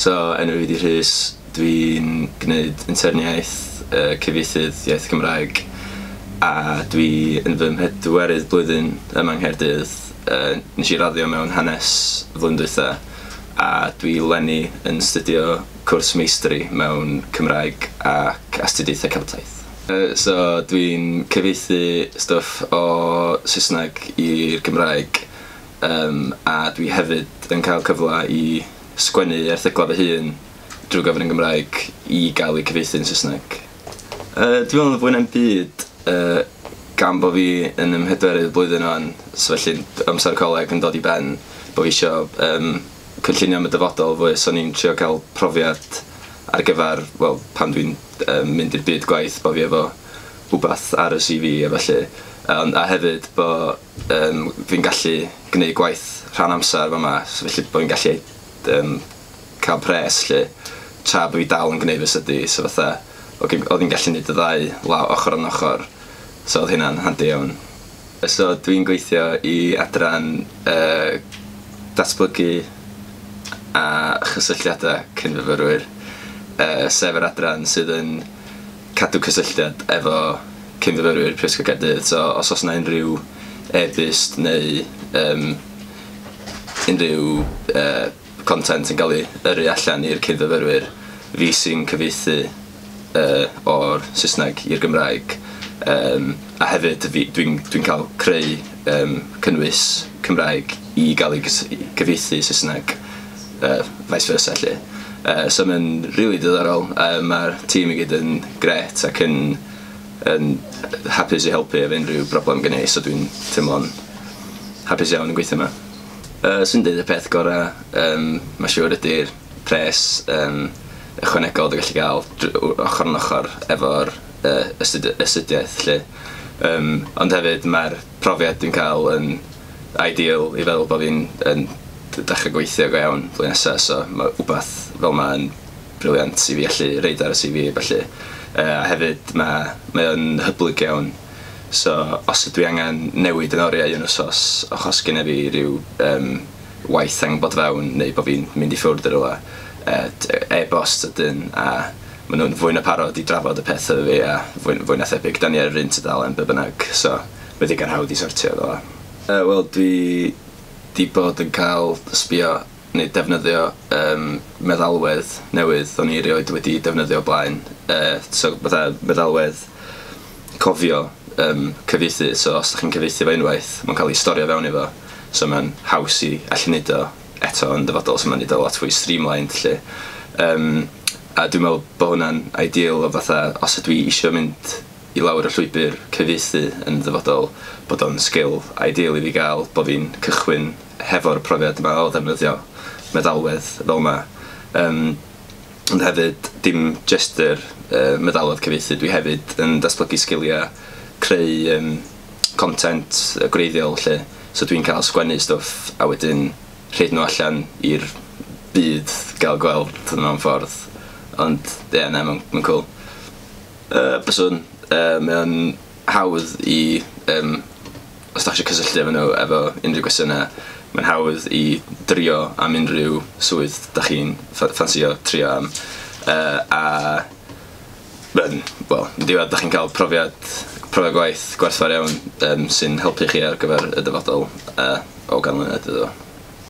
So, enw fi 'di Rhys, dwi'n gwneud interniaeth cyfieithydd iaith Cymraeg a dwi yn fy mhedwerydd blwyddyn yma yng Nghaerdydd. Nes i raddio mewn hanes flwyddyn dwytha a dwi leni yn astudio cwrs meistri mewn Cymraeg ac astudiaethau Celtaidd. So dwi'n cyfieithu stwff o Saesneg i'r Gymraeg, a dwi hefyd yn cael cyfle i sgwennu erthyglau fy hun drwy gyfrwng y Gymraeg i gael eu cyfieithu yn Saesneg. Dwi'n meddwl yn fwy na'm byd, gan bo fi yn 'y mhedwerydd blwyddyn ŵan, so felly amser coleg yn dod i ben, bo fi isio cynllunio am y dyfodol fwy, so o'n i'n trio cael profiad ar gyfer, wel, pan dwi'n mynd i'r byd gwaith, bo fi efo wbath ar y CV a felly. Ond, a hefyd bo fi'n gallu gwneud gwaith rhan amser fama, so felly bo fi'n gallu cael pres 'lly, tra bo fi dal yn gwneud fy study, so fatha, oedd hi'n gallu gwneud y ddau law ochr yn ochr, so oedd hynna'n handi iawn. So dwi'n gweithio i adran datblygu a chysylltiadau cynfyfyrwyr, sef yr adran sydd yn cadw cysylltiad efo cynfyfyrwyr Prifysgol Caerdydd. So os oes 'na unrhyw e-byst neu unrhyw content yn cael ei yrru allan i'r cynfyfyrwyr, fi sy'n cyfieithu o'r Saesneg i'r Gymraeg, a hefyd dwi'n cael creu cynnwys Cymraeg i gael ei cyfieithu Saesneg, vice versa 'lly. So mae'n rili diddorol, mae'r tîm i gyd yn grêt ac yn hapus i helpu efo unrhyw broblem gen i, so dwi'n teimlo'n hapus iawn yn gweithio yma. Swn i'n deud y peth gorau, mae'n siŵr, ydy'r pres ychwanegol dwi'n gallu gael ochr yn ochr efo'r astudiaeth 'lly. Ond hefyd mae'r profiad dwi'n cael yn ideal i feddwl bod fi'n yn dechrau gweithio go iawn flwyddyn nesaf, so mae wbath fel 'ma yn brilliant i fi allu roid ar y CV felly. A hefyd mae o'n hyblyg iawn. So os ydw i angen newid yn oriau un wsos achos genna fi ryw waith angen bod fewn neu bod fi'n mynd i ffwrdd i rywle, e-bost ydyn a maen nhw'n fwy na parod i drafod y peth efo fi a fwy na thebyg da ni ar yr un tudalen be bynnag, so mae digon hawdd i sortio fel 'a. Wel, dwi 'di bod yn cael sbio neu defnyddio meddalwedd newydd o'n i erioed wedi defnyddio o blaen. So fatha meddalwedd cofio cyfieithu, so os ydych chi'n cyfieithu fo unwaith, mae'n cael ei storio fewn iddo, so mae'n haws i allu neud o eto yn dyfodol, so mae'n neud o lot fwy streamlined 'lly. A dwi'n meddwl bod hwnna'n ideal o fatha os ydw i isio mynd i lawr y llwybr cyfieithu yn dyfodol, bod o'n sgil ideal i fi gael, bod fi'n cychwyn hefo'r profiad yma o ddefnyddio meddalwedd fel yma. Ond hefyd, dim jyst yr meddalwedd cyfieithu, dwi hefyd yn datblygu sgiliau creu content gwreiddiol 'lly. So dwi'n cael sgwennu stwff a wedyn rhoid nhw allan i'r byd gael gweld mewn ffordd. Ond ie, yeah, na, mae'n cool. Byswn, mae o'n hawdd i, os da chi eisiau cysylltu efo nhw efo unrhyw gwestiynau, mae'n hawdd i drio am unrhyw swydd da chi'n ffansio trio am. A wel, yn diwedd da chi'n cael profiad gwaith gwerthfawr iawn sy'n helpu chi ar gyfer y dyfodol o ganlyniad iddo fo.